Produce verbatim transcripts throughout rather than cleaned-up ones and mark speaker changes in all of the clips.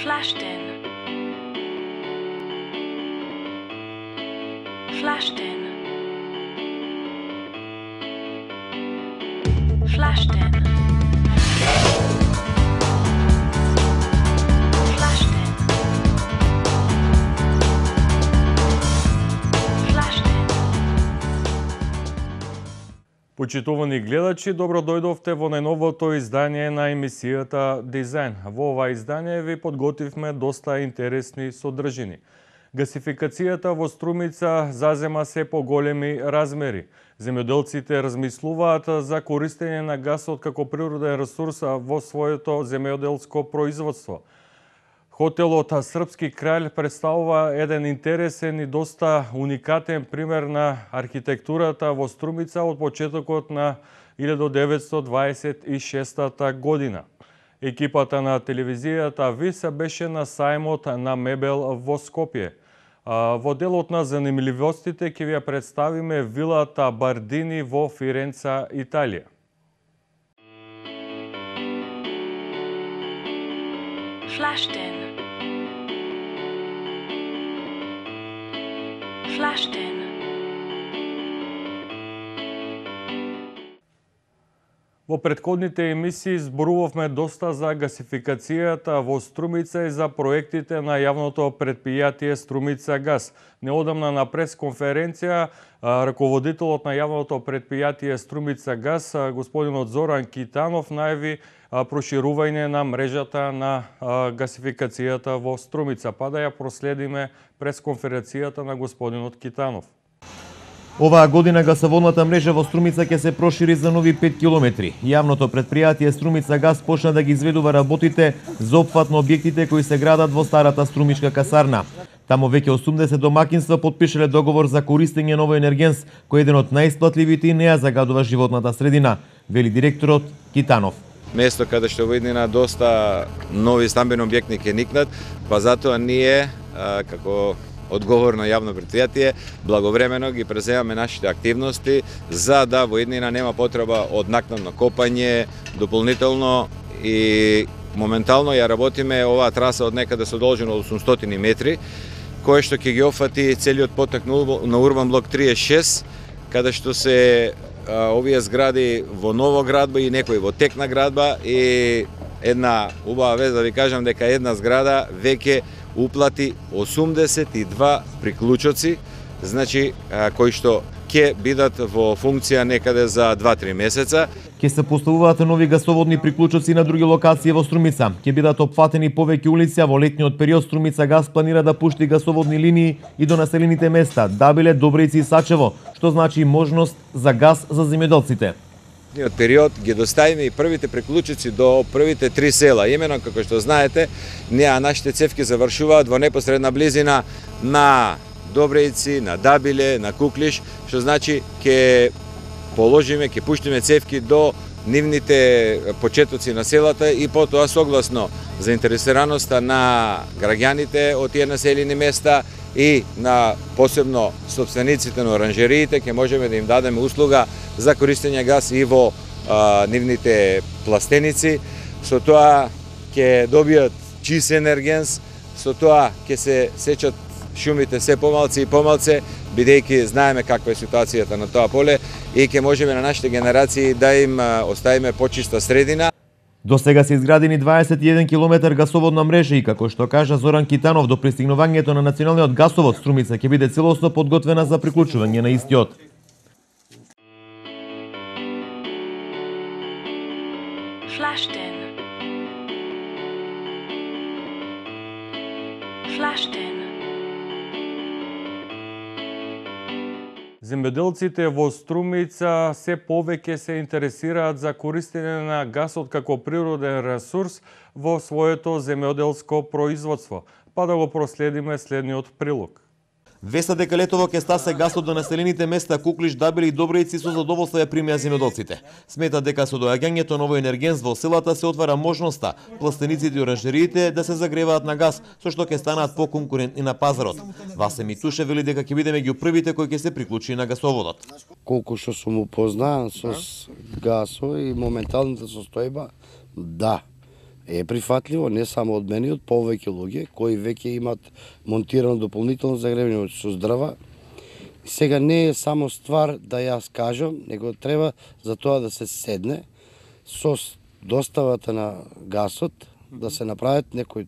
Speaker 1: Flashdin. Flashdin. Flashdin.
Speaker 2: Почитувани гледачи, добро дојдовте во најновото издание на емисијата Дизајн. Во ова издание ви подготвивме доста интересни содржини. Гасификацијата во Струмица зазема се поголеми размери. Земјоделците размислуваат за користење на гасот како природен ресурс во своето земјоделско производство. Хотелот Српски краљ представува еден интересен и доста уникатен пример на архитектурата во Струмица од почетокот на илјада деветстотини дваесет и шеста година. Екипата на телевизијата ВИС беше на сајмот на мебел во Скопје. Во делот на занимливостите ќе ви ја представиме вилата Бардини во Фиренца, Италија.
Speaker 1: Flashdin. Flashdin.
Speaker 2: Во претходните емисии зборувавме доста за гасификацијата во Струмица и за проектите на јавното претпријатие Струмица газ. Неодамна на пресконференција раководителот на јавното претпријатие Струмица газ, господинот Зоран Китанов, најави проширување на мрежата на гасификацијата во Струмица. Па да ја проследиме пресконференцијата на господинот Китанов.
Speaker 3: Оваа година гасоводната мрежа во Струмица ќе се прошири за нови пет километри. Јавното претпријатие Струмица газ почна да ги изведува работите за опфат на објектите кои се градат во старата струмичка касарна. Тамо веќе осумдесет домакинства потпишале договор за користење на овој енергенс, кој е еден од најисплатливите и не ја загадува животната средина, вели директорот Китанов.
Speaker 4: Место каде што во иднина доста нови стамбени објекти ќе никнат, па затоа ние а, како одговорно јавно претпријатие благовремено ги преземаме нашите активности за да во иднина нема потреба од накнадно копање, дополнително и моментално ја работиме оваа траса од некаде со должина од осумстотини метри, кој што ќе ги опфати целиот поток на Урбан блок триесет и шест, каде што се а, овие згради во новоградба и некои во текна градба и една убава вест да ви кажам дека една зграда веќе уплати осумдесет и два приклучоци, значи а, кои што ќе бидат во функција некаде за два-три месеца.
Speaker 3: Ќе се поставуваат нови гасоводни приклучоци на други локации во Струмица. Ќе бидат опфатени повеќе улици, а во летниот период Струмица газ планира да пушти гасоводни линии и до населените места Дабиле, Добрица и Сачево, што значи можност за газ за земјоделците.
Speaker 4: Од период ги доставиме и првите приклучици до првите три села. Имено, како што знаете, ние нашите цевки завршуваат во непосредна близина на Добрејци, на Дабиле, на Куклиш, што значи ќе положиме, ќе пуштиме цевки до нивните почетоци на селата и потоа согласно заинтересираноста на граѓаните од тие населени места и на посебно собствениците на оранжериите ќе можеме да им дадеме услуга за користење газ и во а, нивните пластеници. Со тоа ќе добијат чист енергенс, со тоа ќе се сечат шумите се помалце и помалце, бидејќи знаеме каква е ситуацијата на тоа поле и ќе можеме на нашите генерации да им оставиме почиста средина.
Speaker 3: До сега се изградени дваесет и еден километар гасоводна мрежа и како што кажа Зоран Китанов, до пристигнувањето на националниот гасовод Струмица ќе биде целосно подготвена за приклучување на истиот.
Speaker 1: Flashdin. Flashdin.
Speaker 2: Земјоделците во Струмица се повеќе се интересираат за користење на гасот како природен ресурс во своето земјоделско производство. Па да го проследиме следниот прилог.
Speaker 3: Веста дека летово ќе стасе гасот до населените места Куклиш, Дабили и Добријци со задоволство ја примеа земјоделците. Смета дека со доаѓањето на овој енергенс во селата се отвара можноста пластениците и оранжериите да се загреваат на газ, со што ќе станат поконкурентни на пазарот. Васе Митуше вели дека ќе биде меѓу првите кои ќе се приклучи на гасоводот.
Speaker 5: Колку што сум упознан со гасо и моменталната состојба, да. е прифатливо не само од мене, од повеќе луѓе кои веќе имат монтирано дополнително загревање со здрва. Сега не е само ствар да јас кажам, него треба за тоа да се седне со доставата на гасот, да се направат некои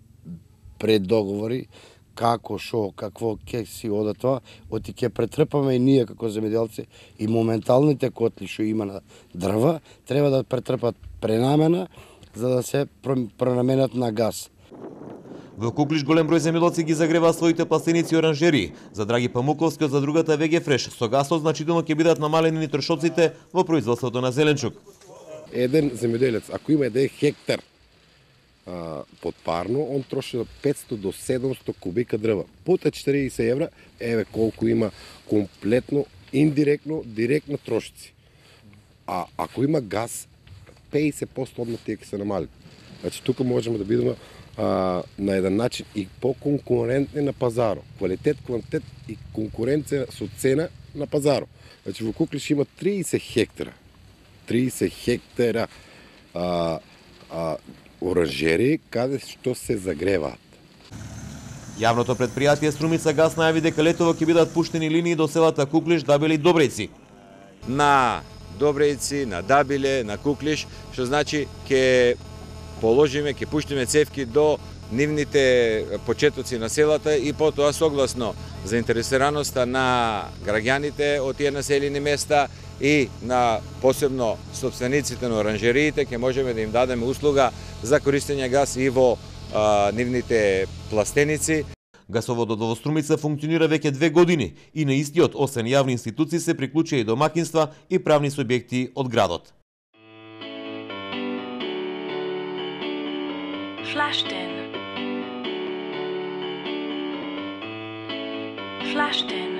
Speaker 5: преддоговори, како, шо, какво ќе си ода тоа, оти ќе претрпаме и ние како земјоделци и моменталните котли што има на дрва, треба да претрпат пренамена за да се пронаменат на газ.
Speaker 3: Во Куклиш голем број земјоделци ги загреваат своите пластеници и оранжери. За Драги Памуковски од задругата ВГ Фреш, со гасот значително ќе бидат намалени трошоците во производството на зеленчук.
Speaker 6: Еден земјоделец, ако има еден хектар а, под парно, он троши петстотини до седумстотини кубика дрва. Пута четириесет евра, еве колку има комплетно, индиректно, директно трошици. А ако има газ, петдесет проценти одма тие ќе се намали. Значи тука можеме да бидеме а, на еден начин и по-конкурентни на пазаро. Квалитет, квантитет и конкуренција со цена на пазаро. Значи во Куклиш има триесет хектара. триесет хектара а, а, оранжери каде што се загреваат.
Speaker 3: Јавното предпријатие Струмица газ најави дека летово ќе бидат пуштени линии до селата Куклиш, Дабеле и Добрејци.
Speaker 4: На Добрејци, на Дабиле, на Куклиш, што значи ќе положиме, ќе пуштиме цевки до нивните почетоци на селата и потоа согласно заинтересираноста на граѓаните од тие населени места и на посебно собствениците на оранжериите ќе можеме да им дадеме услуга за користење газ и во а, нивните пластеници.
Speaker 3: Гасоводот во Струмица функционира веќе две години и на истиот, освен јавни институции, се приклучија и домакинства и правни субјекти од градот.
Speaker 1: Flashdin. Flashdin.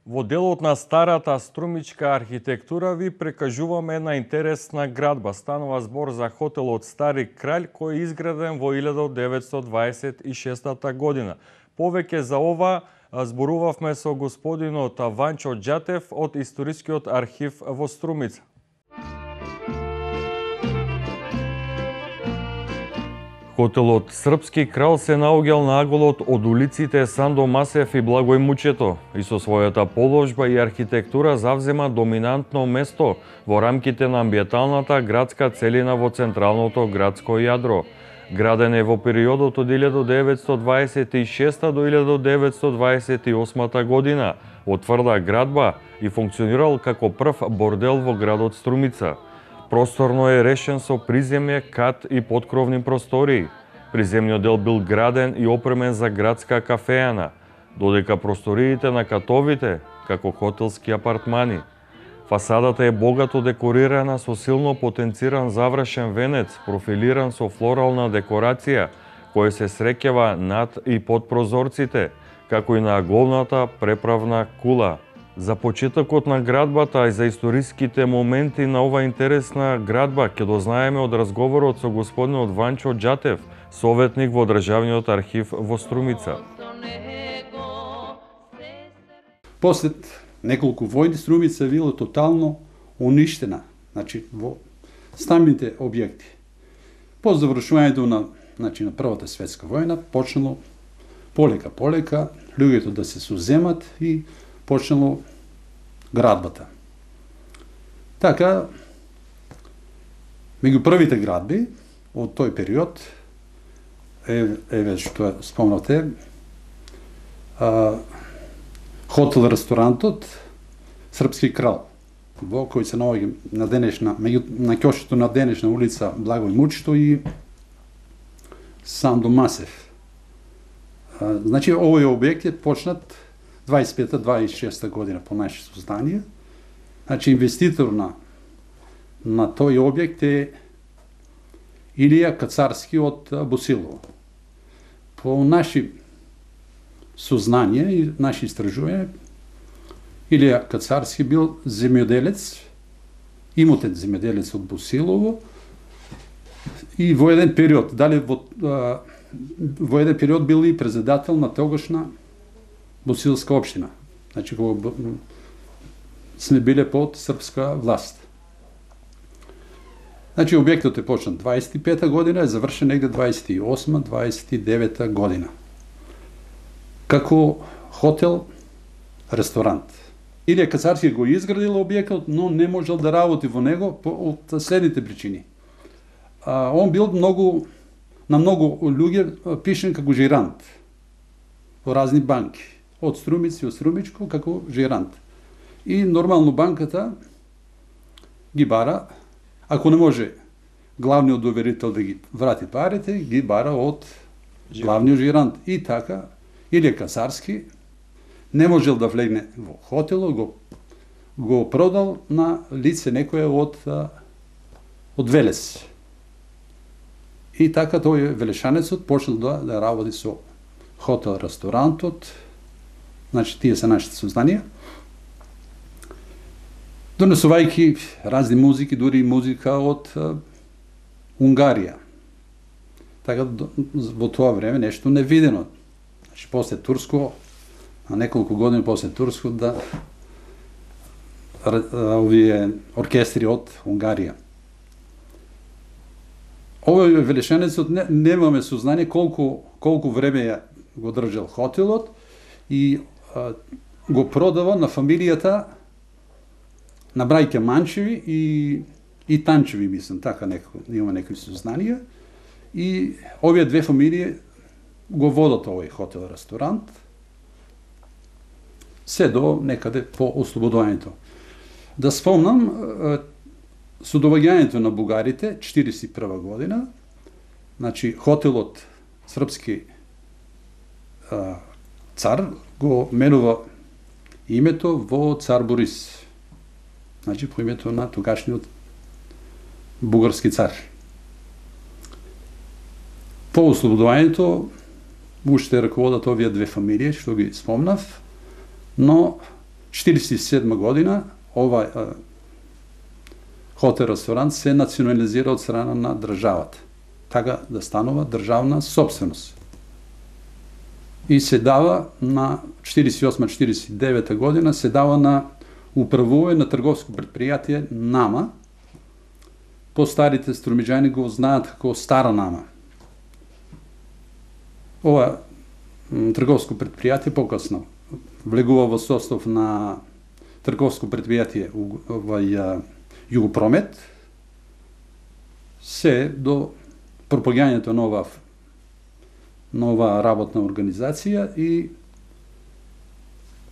Speaker 2: Во делот на старата струмичка архитектура ви прекажуваме една интересна градба. Станува збор за хотелот Стари Краљ, кој е изграден во илјада деветстотини дваесет и шеста година. Повеќе за ова зборувавме со господинот Ванчо Џатев од Историскиот архив во Струмица. Хотелот Српски крал се наоѓал на аголот од улиците Сандо Масев и Благој Мучето и со својата положба и архитектура завзема доминантно место во рамките на амбиенталната градска целина во централното градско јадро. Граден е во периодот од илјада деветстотини дваесет и шеста до илјада деветстотини дваесет и осма година, од тврда градба и функционирал како прв бордел во градот Струмица. Просторно е решен со приземје, кат и подкровни простории. Приземниот дел бил граден и опремен за градска кафејана, додека просториите на катовите како хотелски апартмани. Фасадата е богато декорирана со силно потенциран завршен венец, профилиран со флорална декорација, кој се среќава над и под прозорците, како и на аголната преправна кула. За почетокот на градбата и за историските моменти на ова интересна градба ќе дознаеме од разговорот со господинот Ванчо Џатев, советник во Државниот архив во Струмица.
Speaker 7: После неколку војни Струмица била тотално уништена, значи во стамбените објекти. По завршувањето на, значи, на Првата светска војна почнало полека полека луѓето да се суземат и почнало градбата. Така, меѓу првите градби од тој период, еве што спомнате, хотел-ресторантот Српски крал, во кој се наоѓа на денешна, меѓу на ќошето на денешна улица Благој Мучето и Сандо Масев. Значи, овој објект е почнат дваесет и пета дваесет и шеста година по наше сознание. Значи, инвеститор на, на тој објект е Илија Кацарски од Босилово. По наши сознание и наши истражувања, Илија Кацарски бил земјоделец, имотен земјоделец од Босилово и во еден период, дали во, во еден период бил и председател на тогашна Босилска општина. Значи, кога сме биле под српска власт. Значи, објектот е почнат дваесет и пета година, е завршен негде дваесет и осма дваесет и девета година. Како хотел, ресторант. Илија Кацарски го изградил објектот, но не можел да работи во него по, од следните причини. А, он бил многу, на многу луѓе пишен како жирант во разни банки, од Струмици, од Струмичко, како жирант. И нормално банката ги бара, ако не може главниот доверител да ги врати парите, ги бара од главниот жирант. И така, Илија Кацарски не можел да влегне во хотелот, го, го продал на лице некоја од, од Велес. И така тој велешанецот почнал да, да работи со хотел-ресторантот, значи тие се нашите сознанија, донесувајќи разни музики, дури и музика од а, Унгарија. Така во тоа време нешто невидено. Значи после турско, на неколку години после турско, да овие оркестри од Унгарија. Овој велешенецот не, немаме сознание колку колку време ја го држал хотелот и а, го продава на фамилијата на браќа Манчеви и и Танчеви, мислам, така некој има некои сознанија. И овие две фамилии го водат овој хотел-ресторант се до некаде по ослободувањето. Да спомнам, со доаѓањето на бугарите, четиридесет и прва година, значи хотелот српски а, цар го менува името во цар Борис. Значи по името на тогашниот бугарски цар. По ослободувањето уште раководат овие две фамилии, што ги спомнав, но четиридесет и седма година ова хотел-ресторант се национализира од страна на државата, така да станува државна собственост. И се дава на четиридесет и осма четиридесет и девета година се дава на управување на трговско предпријатие Нама. По старите струмиџани го знаат како Стара Нама. Ова трговско предпријатие покасно влегува во состав на трговско предпријатие овај Југопромет, се до пропагањето на ова нова работна организација и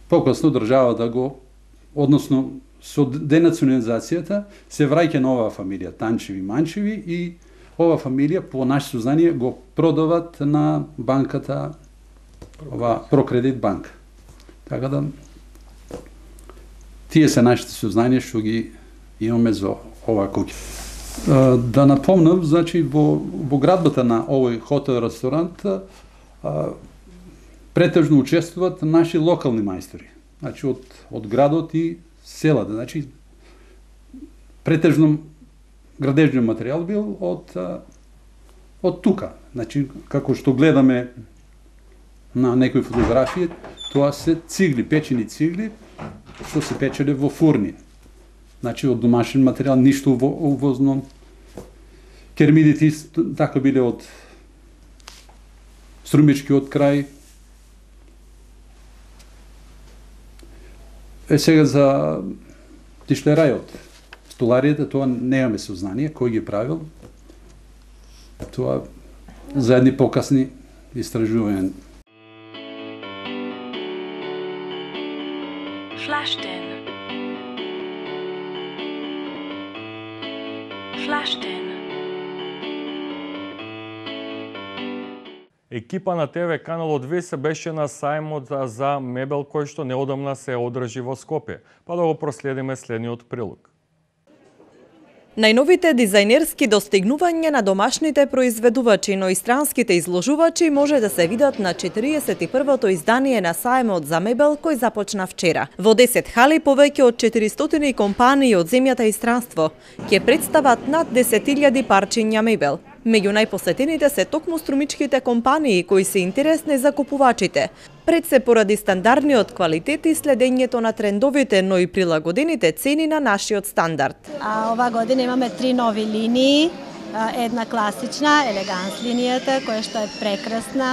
Speaker 7: покасно државата го, односно со денационализацијата се враќа на оваа фамилија Танчеви Манчеви и ова фамилија по наше сознание го продават на банката ова Прокредит банка. Така да тие се нашите сознанија што ги имаме за оваа куќа. Да напомнам, значи во, во градбата на овој хотел-ресторант претежно учествуваат наши локални мајстори. Значи од, од градот и селата. Значи претежно градежниот материјал бил од од тука. Значи како што гледаме на некои фотографии, тоа се цигли, печени цигли што се печеле во фурни. Значи од домашен материјал, ништо увозно. Кермидите така биле од Струмичкиот крај. Е сега за тишлерајот, столаријата, тоа немаме сознание кој ги правил. Тоа за едни покасни истражувања.
Speaker 1: Flashdin. Flashdin.
Speaker 2: Екипа на ТВ каналот две се беше на сајмот за мебел кој што неодамна се одржи во Скопје, па да го проследиме следниот прилог.
Speaker 8: Најновите дизајнерски достигнувања на домашните произведувачи, но и странските изложувачи може да се видат на четириесет и првото издание на сајмот за мебел кој започна вчера. Во десет хали повеќе од четиристотини компании од земјата и странство ќе представат над десет илјади парчиња мебел. Меѓу најпосетените се токму струмичките компании кои се интересни за купувачите. Пред се поради стандардниот квалитет и следењето на трендовите, но и прилагодените цени на нашиот стандард.
Speaker 9: А, ова година имаме три нови линии. Една класична, елеганс линијата, која што е прекрасна.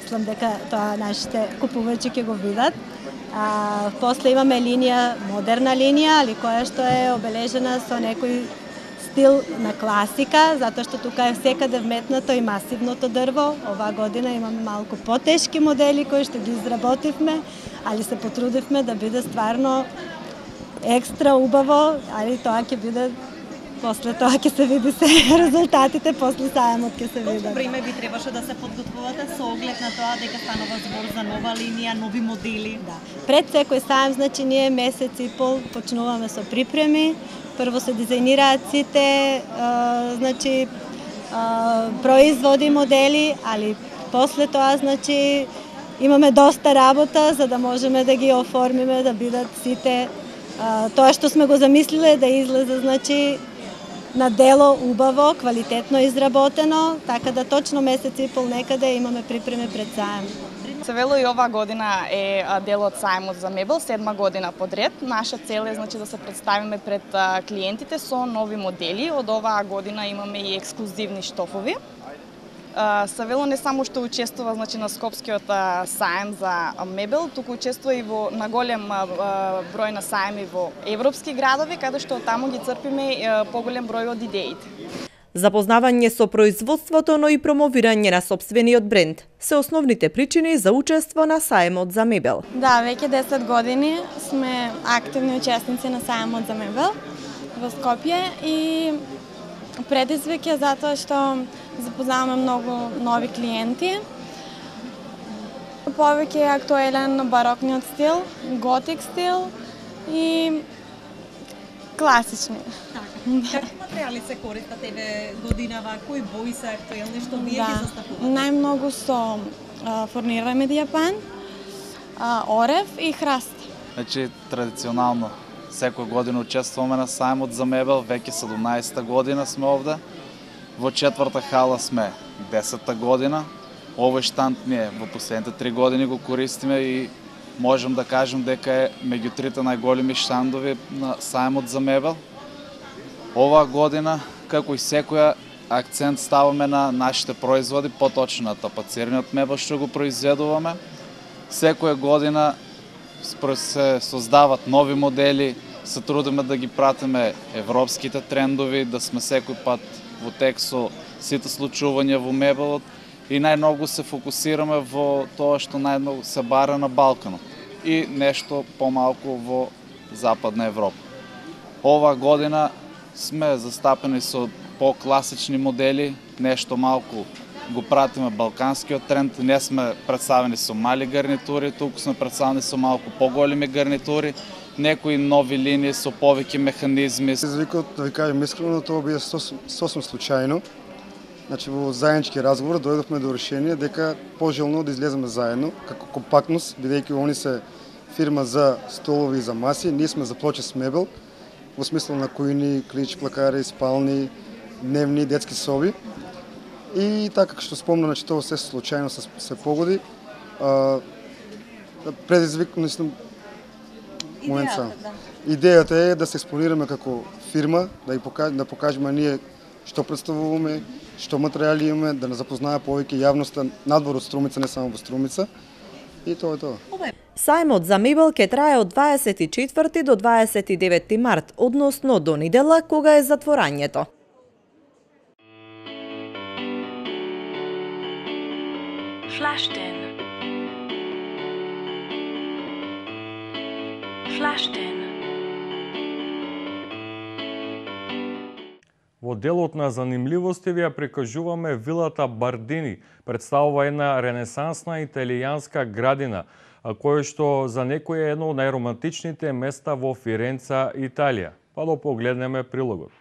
Speaker 9: Мислам дека тоа нашите купувачи ќе го видат. А, после имаме линија, модерна линија, али која што е обележена со некој стил на класика, затоа што тука е секаде вметнато и масивното дрво. Оваа година имаме малку потешки модели кои што ги изработивме, али се потрудивме да биде стварно екстра убаво, али тоа ќе биде после тоа ќе се види се резултатите, после сајмот ќе се видат.
Speaker 8: Колку време би требаше да се подготвувате со оглед на тоа дека станува збор за нова линија, нови модели?
Speaker 9: Да. Пред секој сајм, значи ние месец и пол почнуваме со припреми. Прво се дизајнираат сите, а, значи а, производи, модели, али после тоа, значи имаме доста работа за да можеме да ги оформиме, да бидат сите а, тоа што сме го замислиле да излезе, значи на дело убаво, квалитетно изработено, така да точно месец и пол некаде имаме припреми пред сајм.
Speaker 10: Савело и оваа година е дел од сајмот за мебел, седма година подред. Наша цел е, значи, да се представиме пред клиентите со нови модели. Од оваа година имаме и ексклузивни штофови. Савело не само што учествува, значи, на Скопскиот сајм за мебел, туку учествува и во на голем број на сајми во европски градови, каде што таму ги црпиме поголем број од идеите.
Speaker 8: Запознавање со производството, но и промовирање на сопствениот бренд се основните причини за учество на сајмот за мебел.
Speaker 11: Да, веќе десет години сме активни учесници на сајмот за мебел во Скопје и предизвик е затоа што запознаваме многу нови клиенти. Повеќе е актуелен барокниот стил, готик стил и класични.
Speaker 8: Какви материјали се користат еве годинава, кои бои се актуелни, што вие
Speaker 11: да.
Speaker 8: ги застапувате?
Speaker 11: Најмногу со а, фурниран медијапан, а, орев и храст.
Speaker 12: Значи традиционално секоја година учествуваме на сајмот за мебел, веќе седумнаесета година сме овде. Во четврта хала сме десетта година. Овој штанд ние во последните три години го користиме и можем да кажем дека е меѓу трите најголеми штандови на сајмот за мебел. Оваа година, како и секоја, акцент ставаме на нашите производи, поточно на тапацираниот мебел што го произведуваме. Секоја година се создават нови модели, се трудиме да ги пратиме европските трендови, да сме секој пат во тек со сите случувања во мебелот и најмногу се фокусираме во тоа што најмногу се бара на Балканот и нешто помалку во Западна Европа. Оваа година сме застапени со по-класични модели, нешто малку го пратиме балканскиот тренд, не сме представени со мали гарнитури, туку сме представени со малку поголеми гарнитури, некои нови линии со повеќе механизми.
Speaker 13: Извикот, да ви кажем искрено, тоа бие сосем случајно. Значи во заеднички разговор дојдовме до решение дека пожелно да излеземе заедно како компактност, бидејќи они се фирма за столови и за маси, ние сме за плочи с мебел, во смисло на кујни, клич, плакари, спални, дневни, детски соби. И така како што спомна, значи тоа се случајно се, се погоди. А, предизвик, мислам, момент само. Идејата е да се експонираме како фирма, да ја покажеме, да покажеме ние што представуваме, што материјали имаме, да не запознае повеќе јавноста надвор од Струмица, не само во Струмица. И тоа е тоа.
Speaker 8: Сајмот за мебел ќе трае од дваесет и четврти до дваесет и деветти март, односно до недела кога е затворањето.
Speaker 1: Flashdin. Flashdin.
Speaker 2: Во делот на занимливости ви ја прикажуваме вилата Бардини. Представува една ренесансна италијанска градина, која што за некој е едно од најромантичните места во Фиренца, Италија. Па да погледнеме прилогот.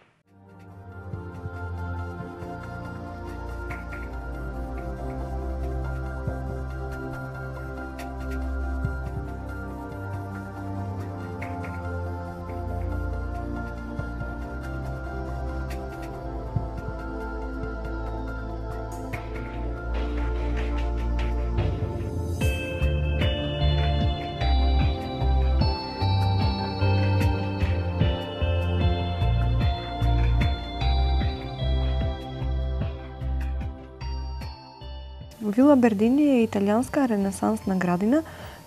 Speaker 14: Вила Бердини е италијанска ренесансна градина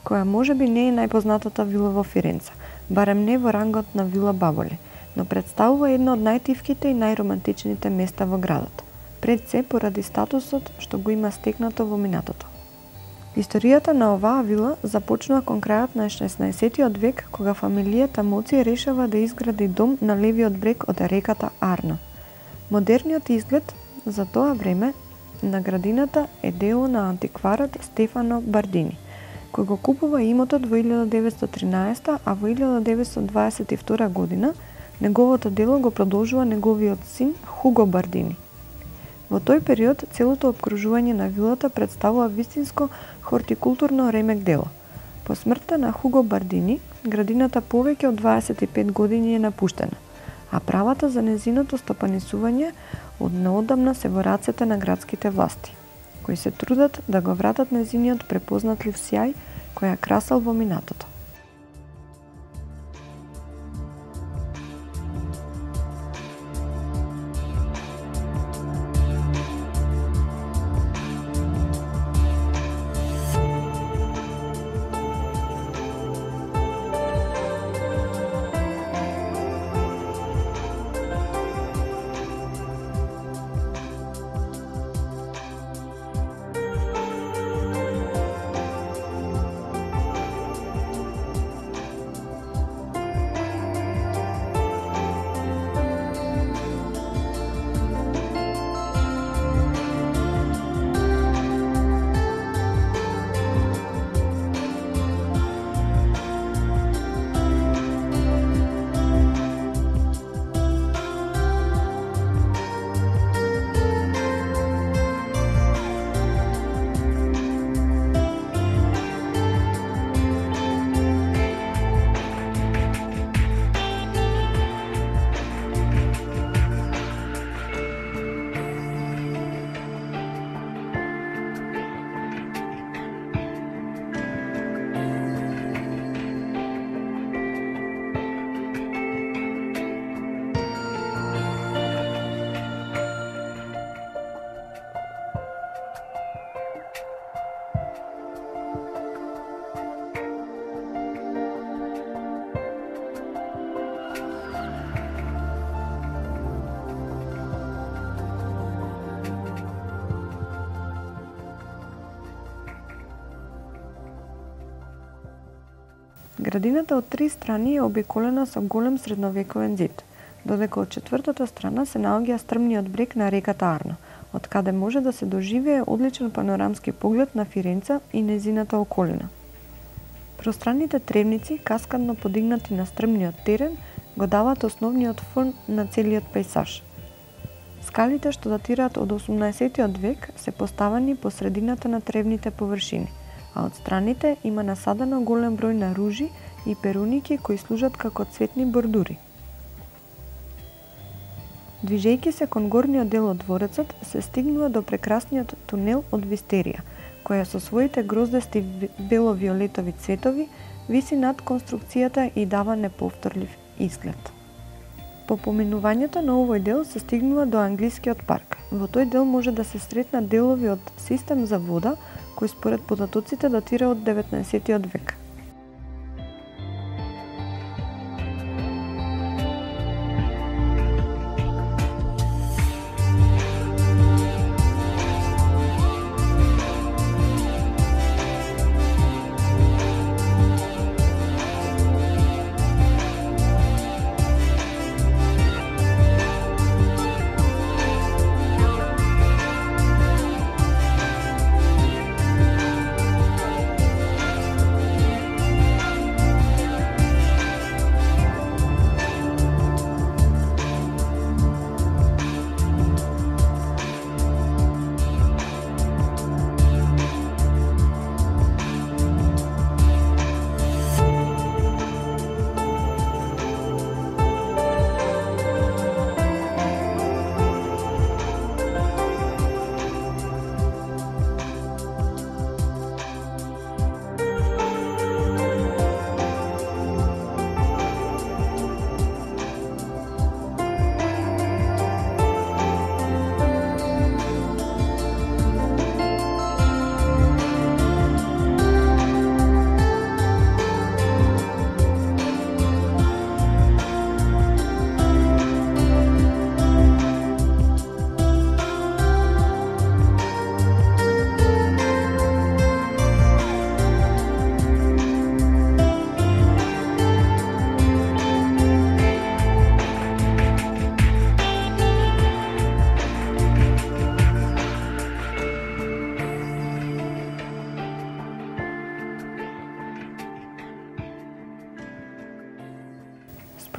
Speaker 14: која можеби не е најпознатата вила во Фиренца, барем не во рангот на Вила Баболе, но представува едно од најтивките и најромантичните места во градот, пред се поради статусот што го има стекнато во минатото. Историјата на оваа вила започнува кон крајот на шеснаесеттиот век, кога фамилијата Моци решава да изгради дом на левиот брег од реката Арно. Модерниот изглед за тоа време на градината е дело на антикварот Стефано Бардини, кој го купува имотот во илјада деветстотини и тринаесета, а во илјада деветстотини дваесет и втора година неговото дело го продолжува неговиот син Хуго Бардини. Во тој период целото обкружување на вилата представува вистинско хортикултурно ремек дело. По смртта на Хуго Бардини, градината повеќе од дваесет и пет години е напуштена, а правата за незиното стопанисување од неодамна се во рацете на градските власти, кои се трудат да го вратат незиниот препознатлив сјај кој ја красал во минатото. Градината од три страни е обиколена со голем средновековен зид, додека од четвртата страна се наоѓа стрмниот брег на реката Арно, од каде може да се доживее одличен панорамски поглед на Фиренца и незината околина. Пространните тревници, каскадно подигнати на стрмниот терен, го дават основниот фон на целиот пејсаж. Скалите што датираат од осумнаесеттиот век се поставени по средината на тревните површини, а од страните има насадено голем број на ружи и перуники кои служат како цветни бордури. Движејќи се кон горниот дел од дворецот, се стигнува до прекрасниот тунел од Вистерија, која со своите гроздести бело-виолетови цветови виси над конструкцијата и дава неповторлив изглед. По поминувањето на овој дел се стигнува до англискиот парк. Во тој дел може да се сретнат делови од систем за вода, кој според потатоците датира од деветнаесеттиот век.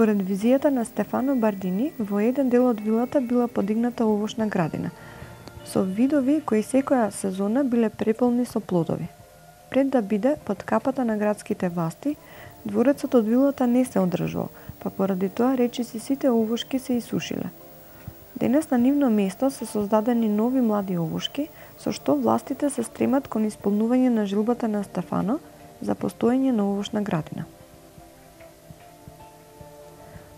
Speaker 14: Според визијата на Стефано Бардини, во еден дел од вилата била подигната овошна градина, со видови кои секоја сезона биле преполни со плодови. Пред да биде под капата на градските власти, дворецот од вилата не се одржувал, па поради тоа речиси сите овошки се исушиле. Денес на нивно место се создадени нови млади овошки, со што властите се стремат кон исполнување на жилбата на Стефано за постоење на овошна градина.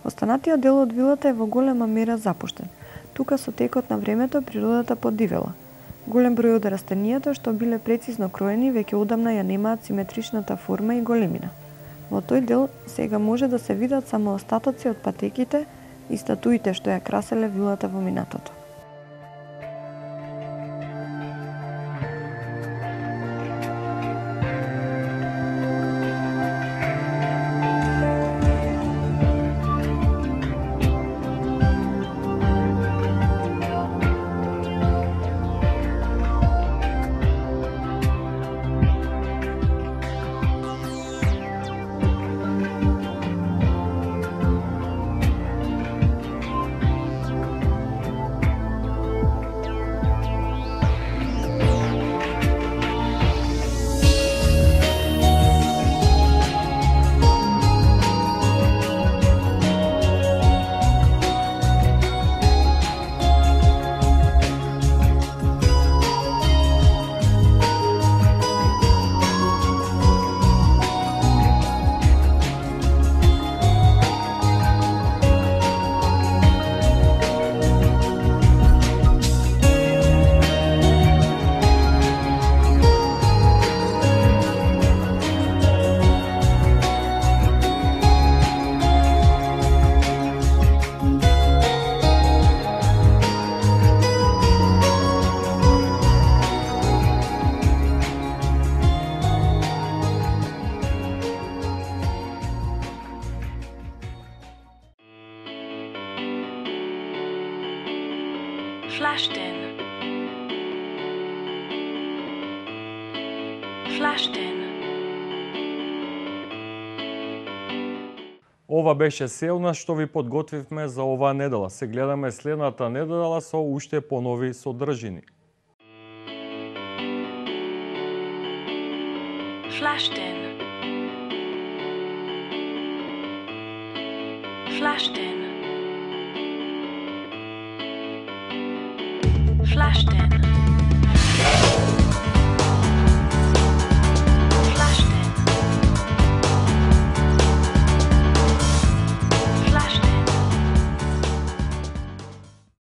Speaker 14: Останатиот дел од вилата е во голема мера запуштен. Тука со текот на времето природата подивела. Голем број од растенијата што биле прецизно кроени веќе одамна ја немаат симетричната форма и големина. Во тој дел сега може да се видат само остатоци од патеките и статуите што ја краселе вилата во минатото.
Speaker 1: Flashdin. Flashdin.
Speaker 2: Ова беше селна што ви подготвивме за оваа недела. Се гледаме следната недела со уште понови содржини.
Speaker 1: Flashdin. Flashdin. Flashdin.